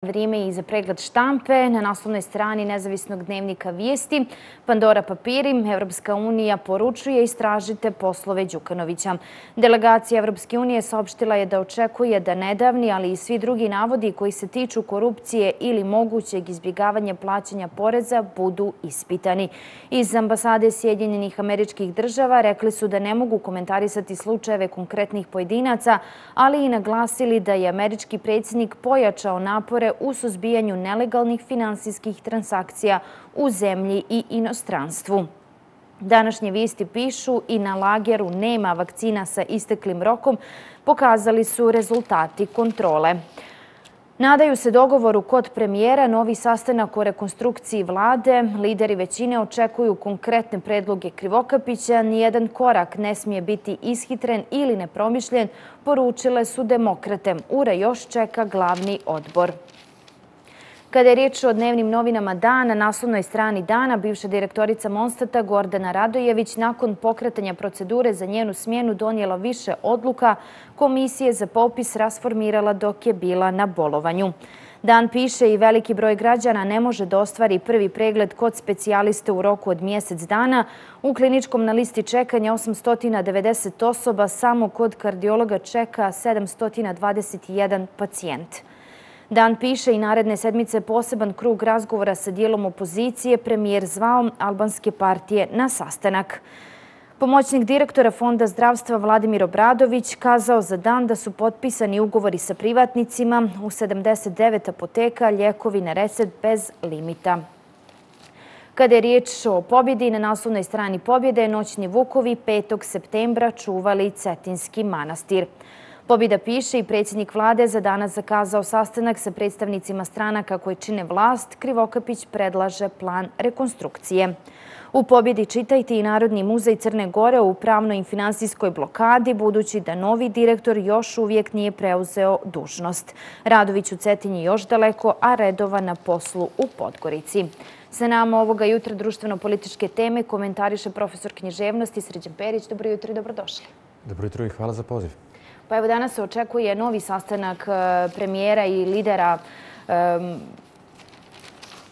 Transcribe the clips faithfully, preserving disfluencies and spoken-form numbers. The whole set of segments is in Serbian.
Vrijeme i za pregled štampe. Na naslovnoj strani nezavisnog dnevnika Vijesti Pandora papiri. Evropska unija poručuje istražite poslove Đukanovića. Delegacija Evropske unije saopštila je da očekuje da nedavni, ali i svi drugi navodi koji se tiču korupcije ili mogućeg izbjegavanja plaćanja poreza budu ispitani. Iz ambasade Sjedinjenih Američkih Država rekli su da ne mogu komentarisati slučajeve konkretnih pojedinaca, ali i naglasili da je američki predsjednik pojačao napore u suzbijanju nelegalnih finansijskih transakcija u zemlji i inostranstvu. Današnje vijesti pišu i na lageru nema vakcina sa isteklim rokom, pokazali su rezultati kontrole. Nadaju se dogovoru kod premijera, novi sastanak o rekonstrukciji vlade. Lideri većine očekuju konkretne predloge Krivokapića. Nijedan korak ne smije biti ishitren ili nepromišljen, poručile su demokrate. Ura još čeka glavni odbor. Kada je riječ o dnevnim novinama Dana, na naslovnoj strani Dana, bivša direktorica Monstata Gordana Radojević nakon pokretanja procedure za njenu smjenu donijela više odluka, komisije za popis rasformirala dok je bila na bolovanju. Dan piše i veliki broj građana ne može da ostvari prvi pregled kod specijaliste u roku od mjesec dana. U kliničkom na listi čekanja osamsto devedeset osoba, samo kod kardiologa čeka sedamsto dvadeset jedan pacijent. Dan piše i naredne sedmice poseban krug razgovora sa dijelom opozicije, premijer zvao albanske partije na sastanak. Pomoćnik direktora Fonda zdravstva Vladimir Obradović kazao za Dan da su potpisani ugovori sa privatnicima u sedamdeset devet apoteka, lijekovi na recept bez limita. Kada je riječ o pobjedi, na naslovnoj strani Pobjede noćni vukovi petog septembra čuvali Cetinski manastir. Pobjeda piše i predsjednik vlade za danas zakazao sastanak sa predstavnicima stranaka koje čine vlast. Krivokapić predlaže plan rekonstrukcije. U Pobjedi čitajte i Narodni muzej Crne Gore u pravnoj i finansijskoj blokadi, budući da novi direktor još uvijek nije preuzeo dužnost. Radović u Cetinji još daleko, a redova na poslu u Podgorici. Sa nama ovoga jutra društveno-političke teme komentariše profesor književnosti Srđan Perić. Dobro jutro i dobrodošli. Dobro jutro i hvala za poziv. Pa evo, danas se očekuje novi sastanak premijera i lidera, um,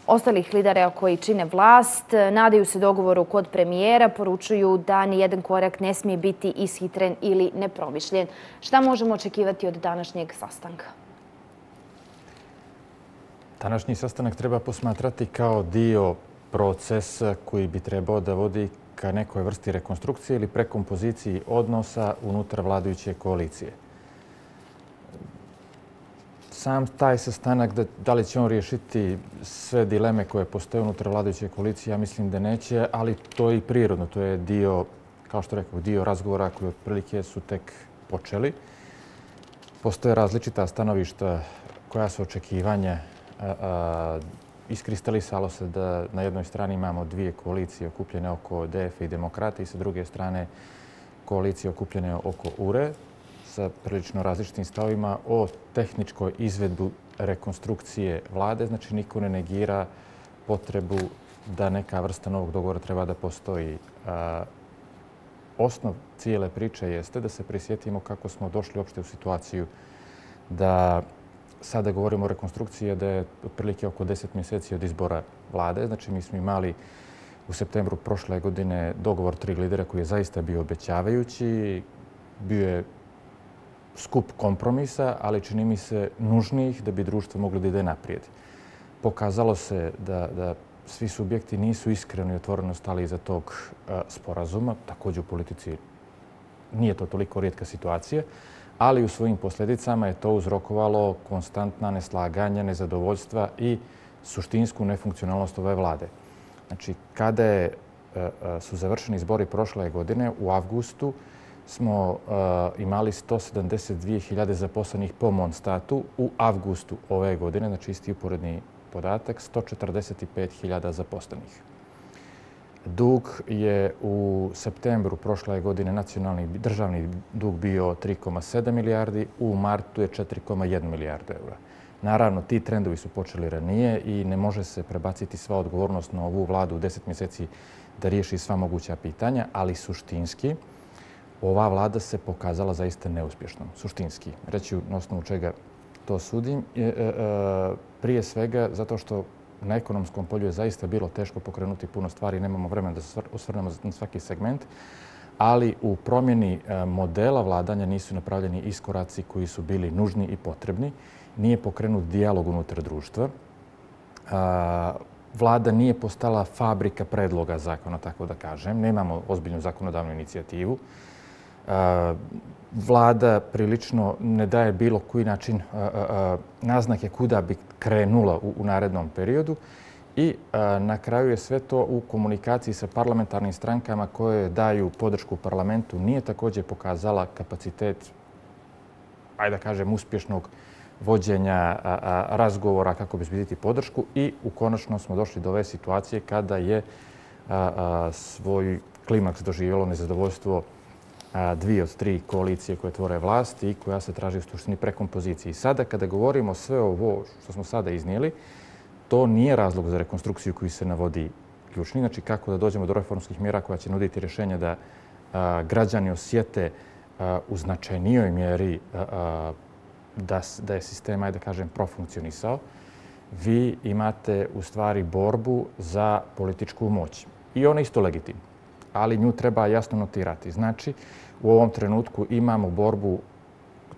ostalih lidera koji čine vlast. Nadaju se dogovoru kod premijera, poručuju da nijedan korak ne smije biti ishitren ili nepromišljen. Šta možemo očekivati od današnjeg sastanka? Današnji sastanak treba posmatrati kao dio procesa koji bi trebao da vodi ka nekoj vrsti rekonstrukcije ili prekompoziciji odnosa unutar vladajuće koalicije. Sam taj sastanak, da li će on riješiti sve dileme koje postoje unutar vladajuće koalicije, ja mislim da neće, ali to je i prirodno. To je dio, kao što rekao, dio razgovora koji otprilike su tek počeli. Postoje različita stanovišta, koja su očekivanja. Iskristalisalo se da na jednoj strani imamo dvije koalicije okupljene oko D F i Demokrata i sa druge strane koalicije okupljene oko U R E sa prilično različitim stavovima o tehničkoj izvedbu rekonstrukcije vlade. Znači, niko ne negira potrebu da neka vrsta novog dogovora treba da postoji. Osnov cijele priče jeste da se prisjetimo kako smo došli uopšte u situaciju da sada govorimo o rekonstrukciji, da je otprilike oko deset mjeseci od izbora vlade. Znači, mi smo imali u septembru prošle godine dogovor tri lidera koji je zaista bio obećavajući. Bio je skup kompromisa, ali čini mi se nužnijih da bi društvo moglo da ide naprijed. Pokazalo se da, da svi subjekti nisu iskreno i otvoreno stali iza tog a, sporazuma. Također u politici nije to toliko rijetka situacija, ali u svojim posljedicama je to uzrokovalo konstantna neslaganja, nezadovoljstva i suštinsku nefunkcionalnost ove vlade. Znači, kada je, su završeni izbori prošle godine, u avgustu smo uh, imali sto sedamdeset dvije hiljade zaposlenih po Monstatu. U avgustu ove godine, znači isti uporedni podatak, sto četrdeset pet hiljada zaposlenih. Dug je u septembru prošle godine nacionalni državni dug bio tri zarez sedam milijardi, u martu je četiri zarez jedna milijarda eura. Naravno, ti trendovi su počeli ranije i ne može se prebaciti sva odgovornost na ovu vladu u deset mjeseci da riješi sva moguća pitanja, ali suštinski ova vlada se pokazala zaista neuspješnom. Suštinski. Reći na osnovu čega to sudim. Prije svega zato što na ekonomskom polju je zaista bilo teško pokrenuti puno stvari, nemamo vremena da se osvrnemo na svaki segment, ali u promjeni modela vladanja nisu napravljeni iskoraci koji su bili nužni i potrebni. Nije pokrenut dijalog unutar društva. Vlada nije postala fabrika predloga zakona, tako da kažem. Nemamo ozbiljnu zakonodavnu inicijativu. Vlada prilično ne daje bilo koji način naznake kuda bi krenula u narednom periodu i na kraju je sve to u komunikaciji sa parlamentarnim strankama koje daju podršku parlamentu. Nije također pokazala kapacitet, ajde da kažem, uspješnog vođenja razgovora kako bi zbiti podršku i u konačno smo došli do ove situacije kada je svoj klimaks doživjelo nezadovoljstvo dvije od tri koalicije koje tvore vlast i koja se traži u suštini prekompozicije. I sada kada govorimo sve ovo što smo sada iznijeli, to nije razlog za rekonstrukciju koji se navodi ključni. Znači kako da dođemo do reformskih mjera koja će nuditi rješenja da građani osjete u značajnijoj mjeri da je sistem, ajde da kažem, profunkcionisao. Vi imate u stvari borbu za političku moć. I ona je isto legitimna, ali nju treba jasno notirati. Znači, u ovom trenutku imamo borbu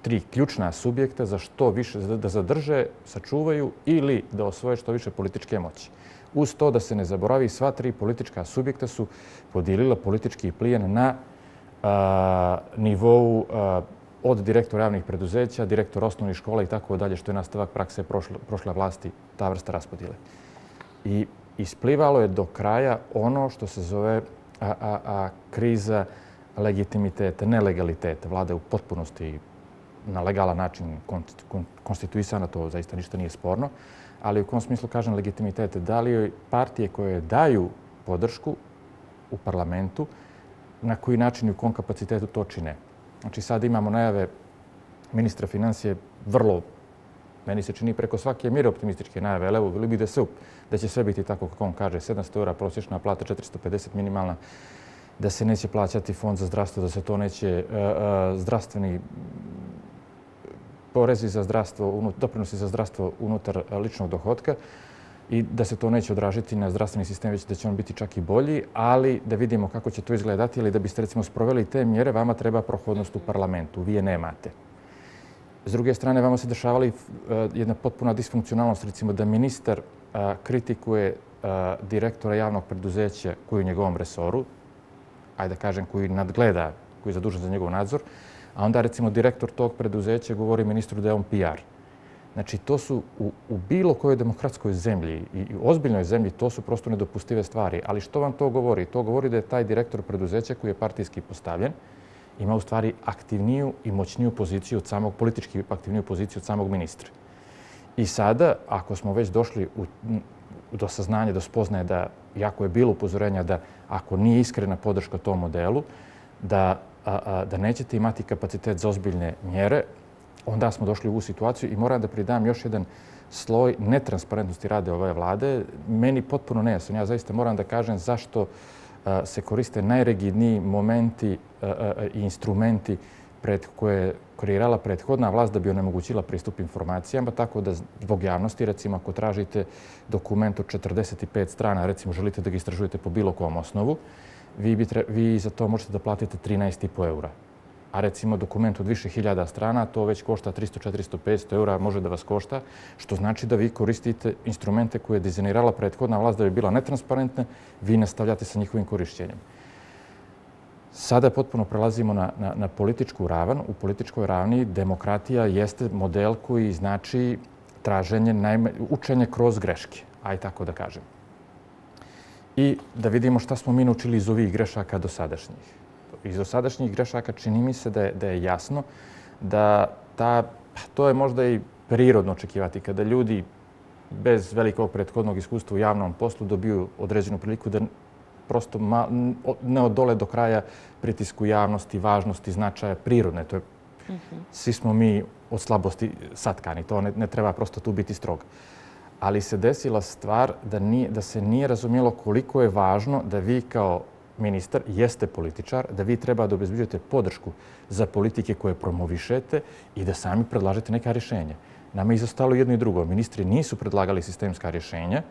tri ključna subjekta za što više da zadrže, sačuvaju ili da osvoje što više političke moći. Uz to da se ne zaboravi, sva tri politička subjekta su podijelila politički plijen na nivou od direktora javnih preduzeća, direktora osnovnih škola i tako dalje, što je nastavak prakse prošle vlasti, ta vrsta raspodijele. I isplivalo je do kraja ono što se zove kriza legitimiteta, nelegaliteta. Vlada je u potpunosti na legalan način konstituisana, to zaista ništa nije sporno, ali u kom smislu kažem legitimitete? Da li joj partije koje daju podršku u parlamentu, na koji način i u kom kapacitetu to čine? Znači sad imamo najave ministra financije vrlo, meni se čini preko svake mjere optimističke najave, ali evo, bili bi da se da će sve biti tako kako on kaže, sedamsto eura prosječna plata, četiristo pedeset minimalna, da se neće plaćati fond za zdravstvo, da se to neće zdravstveni porezi za zdravstvo, doprinosi za zdravstvo unutar ličnog dohotka i da se to neće odražiti na zdravstveni sistem, već da će on biti čak i bolji, ali da vidimo kako će to izgledati ili da biste recimo sproveli te mjere, vama treba prohodnost u parlamentu, vi je nemate. S druge strane, vama se dešavali jedna potpuna disfunkcionalnost, recimo da ministar kritikuje direktora javnog preduzeća koji je u njegovom resoru, ajde da kažem, koji nadgleda, koji je zadužen za njegov nadzor, a onda recimo direktor tog preduzeća govori ministru da je on P R. Znači, to su u, u bilo kojoj demokratskoj zemlji i ozbiljnoj zemlji, to su prosto nedopustive stvari. Ali što vam to govori? To govori da je taj direktor preduzeća koji je partijski postavljen ima u stvari aktivniju i moćniju poziciju od samog, politički aktivniju poziciju od samog ministra. I sada, ako smo već došli u, do saznanja, do spoznaje da, jako je bilo upozorenja da ako nije iskrena podrška tom modelu, da, a, a, da nećete imati kapacitet za ozbiljne mjere, onda smo došli u ovu situaciju i moram da pridam još jedan sloj netransparentnosti rade ove vlade. Meni potpuno nejasno. Ja zaista moram da kažem zašto se koriste najrigidniji momenti i instrumenti pred koje je kreirala prethodna vlast da bi onemogućila pristup informacijama, tako da zbog javnosti, recimo ako tražite dokument od četrdeset pet strana, recimo želite da ga istražujete po bilo kom osnovu, vi, bi tre, vi za to možete da platite trinaest i po eura. A recimo dokument od više hiljada strana, to već košta tristo, četiristo, petsto eura, može da vas košta, što znači da vi koristite instrumente koje je dizajnirala prethodna vlast da bi bila netransparentna, vi nastavljate sa njihovim korišćenjem. Sada potpuno prelazimo na, na, na političku ravan. U političkoj ravni demokratija jeste model koji znači traženje, najme, učenje kroz greške, aj tako da kažem. I da vidimo šta smo mi naučili iz ovih grešaka do sadašnjih. Iz dosadašnjih grešaka čini mi se da je, da je jasno da ta, to je možda i prirodno očekivati kada ljudi bez velikog prethodnog iskustva u javnom poslu dobiju određenu priliku da prosto ma, ne odole do kraja pritisku javnosti, važnosti, značaja prirodne. To je, mm-hmm. Svi smo mi od slabosti satkani, to ne, ne treba prosto tu biti strog. Ali se desila stvar da, nije, da se nije razumjelo koliko je važno da vi kao ministar jeste političar, da vi treba da obezbeđujete podršku za politike koje promovišete i da sami predlažete neka rješenja. Nama je izostalo jedno i drugo. Ministri nisu predlagali sistemska rješenja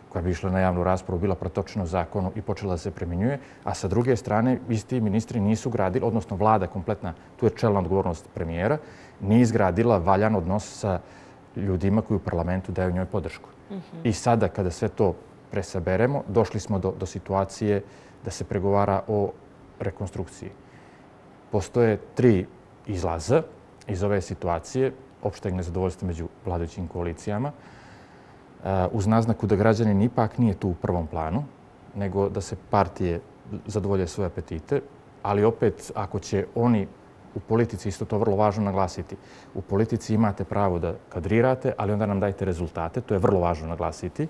koja bi išla na javnu raspravu, bila protočena u zakonu i počela da se primjenjuje, a sa druge strane isti ministri nisu gradili, odnosno vlada kompletna, tu je čelna odgovornost premijera, nije izgradila valjan odnos sa ljudima koji u parlamentu daju njoj podršku. I sada kada sve to presaberemo, došli smo do, do situacije da se pregovara o rekonstrukciji. Postoje tri izlaza iz ove situacije, opšteg nezadovoljstva među vladajućim koalicijama, uz naznaku da građanin ipak nije tu u prvom planu, nego da se partije zadovolje svoje apetite, ali opet ako će oni u politici, isto to vrlo važno naglasiti, u politici imate pravo da kadrirate, ali onda nam dajte rezultate, to je vrlo važno naglasiti.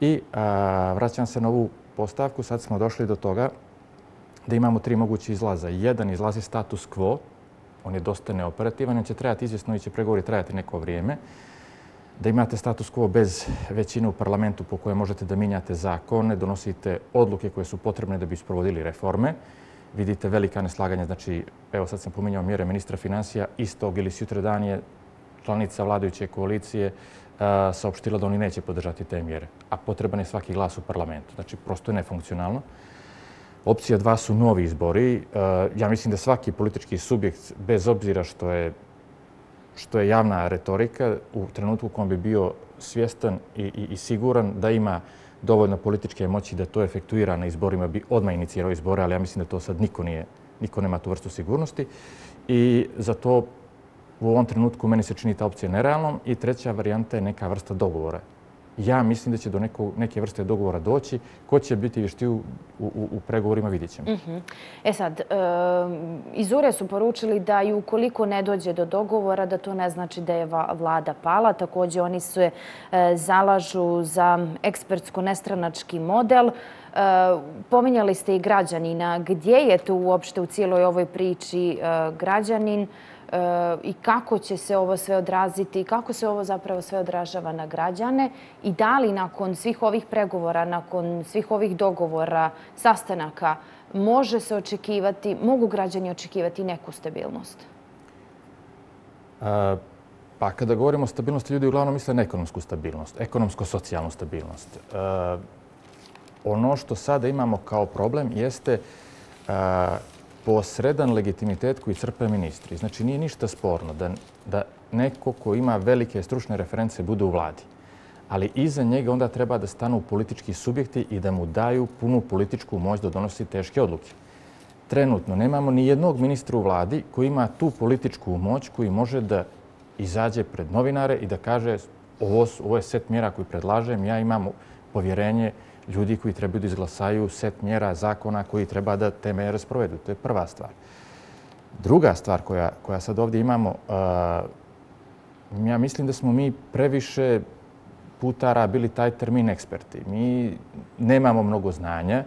I a, vraćam se na ovu postavku, sad smo došli do toga da imamo tri moguće izlaza. Jedan izlazi status quo, on je dosta neoperativan, on će trajati izvjesno i će pregovori trajati neko vrijeme. Da imate status quo bez većine u parlamentu po kojoj možete da mijenjate zakone, donosite odluke koje su potrebne da bi sprovodili reforme. Vidite velika neslaganja, znači, evo sad sam pominjao mjere ministra financija, istog ili sutradan je članica vladajuće koalicije saopštila da oni neće podržati te mjere, a potreban je svaki glas u parlamentu. Znači, prosto je nefunkcionalno. Opcija dva su novi izbori. Ja mislim da svaki politički subjekt, bez obzira što je, što je javna retorika, u trenutku u kojem bi bio svjestan i, i, i siguran da ima dovoljno političke moći da to efektuira na izborima, bi odmah inicirao izbore, ali ja mislim da to sad niko, nije, niko nema tu vrstu sigurnosti. I za to u ovom trenutku meni se čini ta opcija nerealnom. I treća varijanta je neka vrsta dogovora. Ja mislim da će do neko, neke vrste dogovora doći. Ko će biti vještiji u, u, u pregovorima, vidjet ćemo. Uh-huh. E sad, e, iz U R E su poručili da i ukoliko ne dođe do dogovora, da to ne znači da je vlada pala. Također oni se e, zalažu za ekspertsko-nestranački model. E, pominjali ste i građanina. Gdje je tu uopšte u cijeloj ovoj priči e, građanin? I kako će se ovo sve odraziti i kako se ovo zapravo sve odražava na građane i da li nakon svih ovih pregovora, nakon svih ovih dogovora, sastanaka, može se očekivati, mogu građani očekivati neku stabilnost? A, pa kada govorimo o stabilnosti, ljudi uglavnom misle na ekonomsku stabilnost, ekonomsko-socijalnu stabilnost. A, ono što sada imamo kao problem jeste a, posredan legitimitet koji crpe ministri. Znači, nije ništa sporno da, da neko ko ima velike stručne reference bude u vladi. Ali iza njega onda treba da stanu politički subjekti i da mu daju punu političku moć da donosi teške odluke. Trenutno nemamo ni jednog ministra u vladi koji ima tu političku moć koji može da izađe pred novinare i da kaže ovo, ovo je set mjera koji predlažem, ja imam povjerenje ljudi koji trebaju da izglasaju set mjera, zakona koji treba da te mjere sprovedu. To je prva stvar. Druga stvar koja, koja sad ovdje imamo, uh, ja mislim da smo mi previše putara bili taj termin eksperti. Mi nemamo mnogo znanja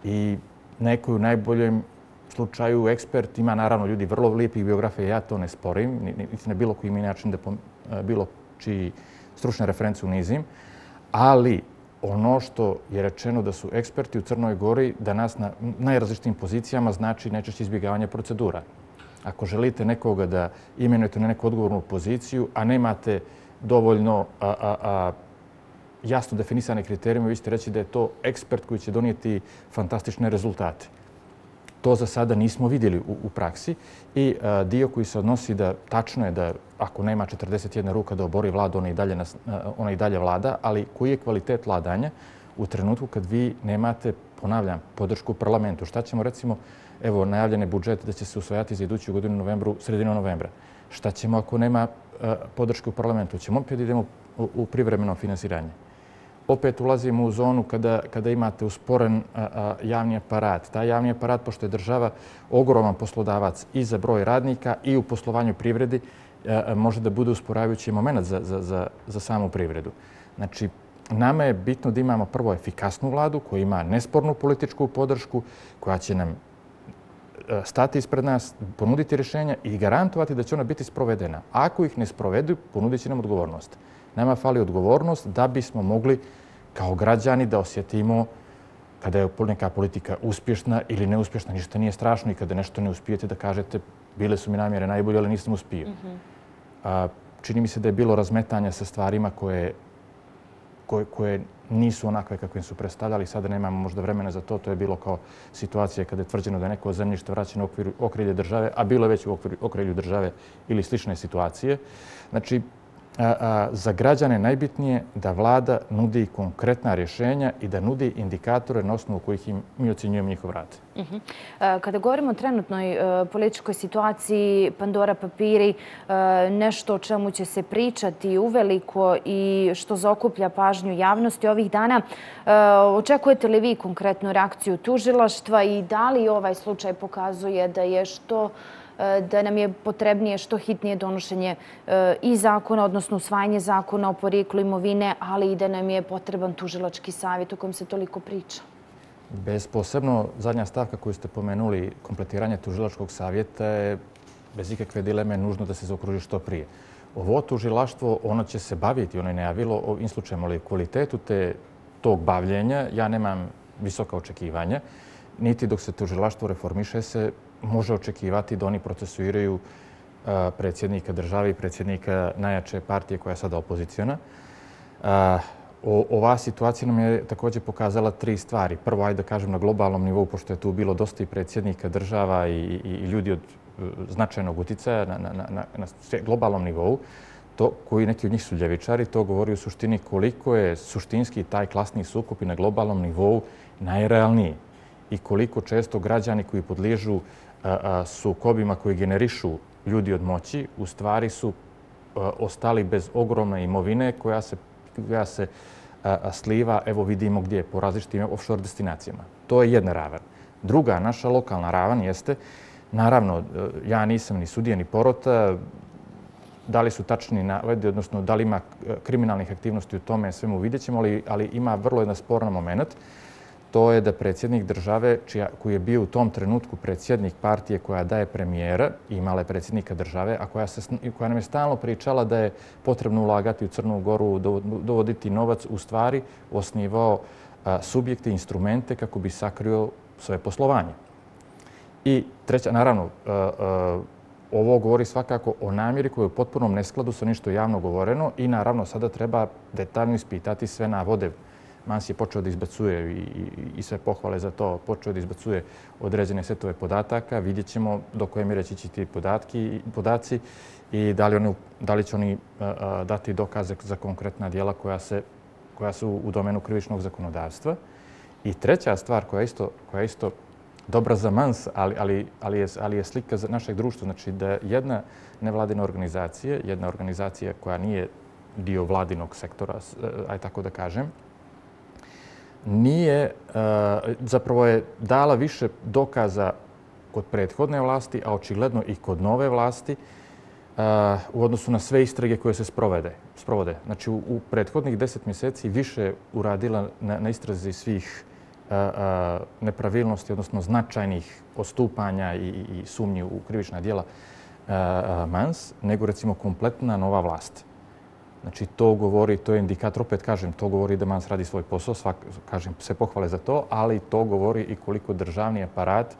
i neko u najboljem slučaju ekspert ima naravno ljudi vrlo lijepih biografija, ja to ne sporim, niti na bilo koji način da bilo čiji stručne reference unizim, ali ono što je rečeno da su eksperti u Crnoj Gori da nas na najrazličitijim pozicijama znači najčešće izbjegavanje procedura. Ako želite nekoga da imenujete na neku odgovornu poziciju, a nemate dovoljno a, a, a, jasno definisane kriterijume, vi ćete reći da je to ekspert koji će donijeti fantastične rezultate. To za sada nismo vidjeli u, u praksi i a, dio koji se odnosi da tačno je da ako nema četrdeset jedna ruka da obori vladu, ona i dalje, nas, ona i dalje vlada, ali koji je kvalitet vladanja u trenutku kad vi nemate, ponavljam, podršku u parlamentu? Šta ćemo, recimo, evo, najavljene budžete da će se usvajati za iduću godinu u novembru, sredinu novembra. Šta ćemo ako nema a, podrške u parlamentu? Ćemo opet idemo u, u privremeno finansiranje. Opet ulazimo u zonu kada, kada imate usporen a, a, javni aparat. Taj javni aparat, pošto je država ogroman poslodavac i za broj radnika i u poslovanju privredi, a, može da bude usporavajući moment za, za, za, za samu privredu. Znači, nama je bitno da imamo prvo efikasnu vladu koja ima nespornu političku podršku, koja će nam stati ispred nas, ponuditi rješenja i garantovati da će ona biti sprovedena. Ako ih ne sprovedu, ponudit će nam odgovornost. Nama fali odgovornost da bismo mogli kao građani da osjetimo kada je neka politika uspješna ili neuspješna, ništa nije strašno i kada nešto ne uspijete da kažete bile su mi namjere najbolje, ali nisam uspio. Mm-hmm. A, čini mi se da je bilo razmetanja sa stvarima koje, koje, koje nisu onakve kakve su predstavljali. Sada nemamo možda vremena za to. To je bilo kao situacija kada je tvrđeno da je neko zemljište vraćeno u okviru okrilje države, a bilo je već u okviru, okrilju države ili slične situacije. Znači, a, a, za građane najbitnije da vlada nudi konkretna rješenja i da nudi indikatore na osnovu kojih im, mi ocjenjujemo njihov rad. Uh-huh. Kada govorimo o trenutnoj uh, političkoj situaciji, Pandora papiri, uh, nešto o čemu će se pričati uveliko i što zaokuplja pažnju javnosti ovih dana, uh, očekujete li vi konkretnu reakciju tužilaštva i da li ovaj slučaj pokazuje da je što da nam je potrebnije što hitnije donošenje i zakona, odnosno usvajanje zakona o porijeklu imovine, ali i da nam je potreban tužilački savjet o kojem se toliko priča? Bez posebno, zadnja stavka koju ste pomenuli, kompletiranje tužilačkog savjeta je bez ikakve dileme nužno da se zaokruži što prije. Ovo tužilaštvo, ono će se baviti, ono je najavilo ovim slučajem, ali kvalitetu te, tog bavljenja ja nemam visoka očekivanja, niti dok se tužilaštvo reformiše se može očekivati da oni procesuiraju predsjednika države i predsjednika najjače partije koja je sada opozicijona. Ova situacija nam je također pokazala tri stvari. Prvo, ajde da kažem na globalnom nivou, pošto je tu bilo dosta i predsjednika država i, i, i ljudi od značajnog uticaja na, na, na, na globalnom nivou, to, koji neki od njih su ljevičari, to govori u suštini koliko je suštinski taj klasni sukob i na globalnom nivou najrealniji i koliko često građani koji podliježu sukobima koji generišu ljudi od moći, u stvari su ostali bez ogromne imovine koja se, koja se sliva, evo vidimo gdje, po različitim offshore destinacijama. To je jedna ravan. Druga, naša lokalna ravan jeste, naravno, ja nisam ni sudija ni porota, da li su tačni navodi, odnosno da li ima kriminalnih aktivnosti u tome, svemu vidjet ćemo, ali, ali ima vrlo jedan sporan moment. To je da predsjednik države, čija, koji je bio u tom trenutku predsjednik partije koja daje premijera, imala je predsjednika države, a koja, se, koja nam je stalno pričala da je potrebno ulagati u Crnu Goru, dovoditi novac, u stvari osnivao a, subjekte, instrumente kako bi sakrio svoje poslovanje. I treća, naravno, a, a, ovo govori svakako o namjeri koja je u potpunom neskladu sa ništo javno govoreno i naravno sada treba detaljno ispitati sve navode. Mans je počeo da izbacuje i, i, i sve pohvale za to, počeo da izbacuje određene setove podataka. Vidjet ćemo do koje mjere će ići ti podatki, podaci i da li, oni, da li će oni a, a, dati dokaze za konkretna djela koja, se, koja su u domenu krivičnog zakonodavstva. I treća stvar koja je isto, koja je isto dobra za Mans, ali, ali, ali, je, ali je slika za našeg društva. Znači da jedna nevladina organizacija, jedna organizacija koja nije dio vladinog sektora, aj tako da kažem, nije, zapravo je dala više dokaza kod prethodne vlasti, a očigledno i kod nove vlasti u odnosu na sve istrage koje se sprovede. sprovode. Znači, u, u prethodnih deset mjeseci više uradila na, na istrazi svih a, a, nepravilnosti, odnosno značajnih odstupanja i, i sumnji u krivična djela a, a, Mans, nego recimo kompletna nova vlast. Znači, to govori, to je indikator, opet kažem, to govori da Mans radi svoj posao, svak, kažem, sve pohvale za to, ali to govori i koliko državni aparat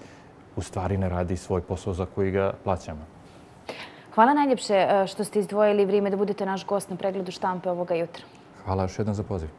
u stvari ne radi svoj posao za koji ga plaćamo. Hvala najljepše što ste izdvojili vrijeme da budete naš gost na pregledu štampe ovoga jutra. Hvala još jednom za poziv.